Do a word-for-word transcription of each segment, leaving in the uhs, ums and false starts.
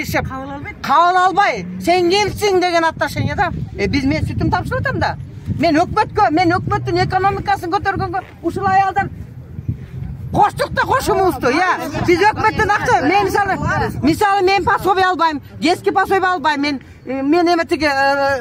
ишеп кабыл албай сен кимсиң деген отношение да. Биз мен сүтүм тапшырып атам да. Мен өкмөткө, мен өкмөттүн экономикасын көтөргөнгө ушул аялдар коштук да кошумубузду, я. Биз өкмөттөн акча, мен мисалы, мисалы мен пособие албайм, детский пособие албайм, мен мен эме тиги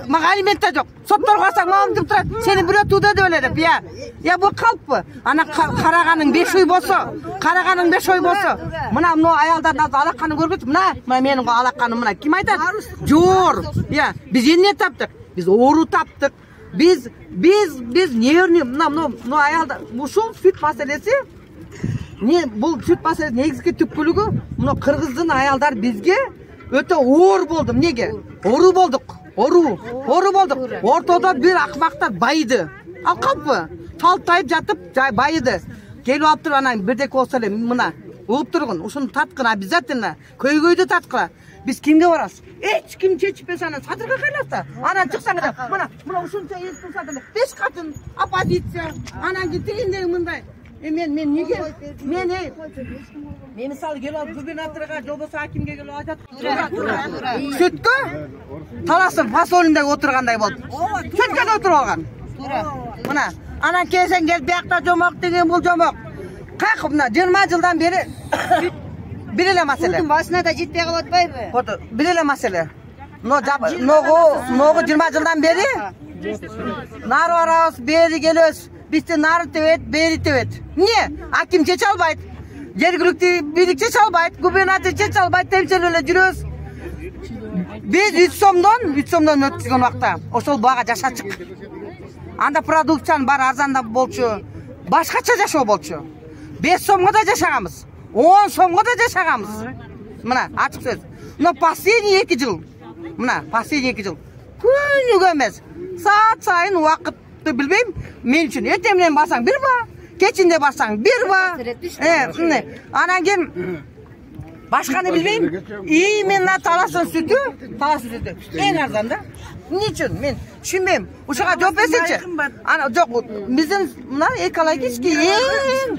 мага алимент да жок. Сотторго барсак мамам деп турат, сени бирөө тууды деп эле деп, я. Я бул калппы? Ана караганың беш ой болсо, караганың беш ой болсо, мына мына аялдардын алаканын көрбөйсүң, мына, мына менин алаканым мына ким айтат? Жор, я. Биз эмне таптык? Биз оору таптык. Биз биз биз нервный мына мына аялдар ушул сүт маселеси не бул сүт маселеси негизги түпкүлүгү мына кыргыздын аялдар бизге өтө оор болду. Эмнеге? Оору болдук. Оору. Оору болдук. Ортодо бир акмактар байыды. Ал калппы? Талтайып жатып байыды. Келип алып туруп анан бирдеке болсо эле мына угуп тургун. Ушуну таткын обязательно. Көйгөйдү таткыла. Биз кимге барабыз? Эч ким чечпес анан садырга кайласа. Анан чыксаң да мына мына ушунча эл турса деле беш катын оппозиция. Анан тигиндей мындай. Э мен мен неге? Мен эй. Мен мисалы келип алып губернаторга, же болбосо акимге келип айтат. Сүткө таласып фасолинде отургандай болду. Сүткө отуруп алган. Мына анан келсең келип биякта жомок деген бул жомок. Как мына жыйырма жылдан бери бир эле маселе. Судун башына да жетпей калып атпайбы? Фото бир эле маселе. Но ногу ногу жыйырма жылдан бери нары барабыз, бери келебиз. Бизди нары тебет, бери тебет. Эмне? Аким чече албайт. Жергиликтүү бийлик чече албайт, губернатор чече албайт, темчелеп эле жүрөбүз. Биз үч сомдон, үч сомдон өткүзгөн убакта ошол бага жашачык. Анда продукциянын баары арзандап болчу, башкача жашоо болчу. беш сомго да жашаганбыз, он сомго да жашаганбыз. Мына ачык сөз. Но последний эки жыл, мына последний эки жыл күнүгө эмес, саат сайын убакытты билбейм, мен үчүн эртең менен барсаң бир ба, кечинде барсаң бир ба. Э, анан кийин башканы билбейм. Именно таластын сүтү, таластын сүтү эң арзан да. Эмне үчүн? Мен түшүнбөйм. Ушуга жооп берсечи. Ана жок, биздин мына экологический эң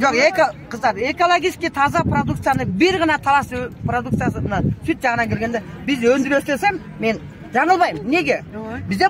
жок, эко кыздар, экологический таза продукцияны бир гана талас продукциясы мына сүт жагынан келгенде биз өндүрөбүз десем, мен жаңылбайм. Неге? Бизде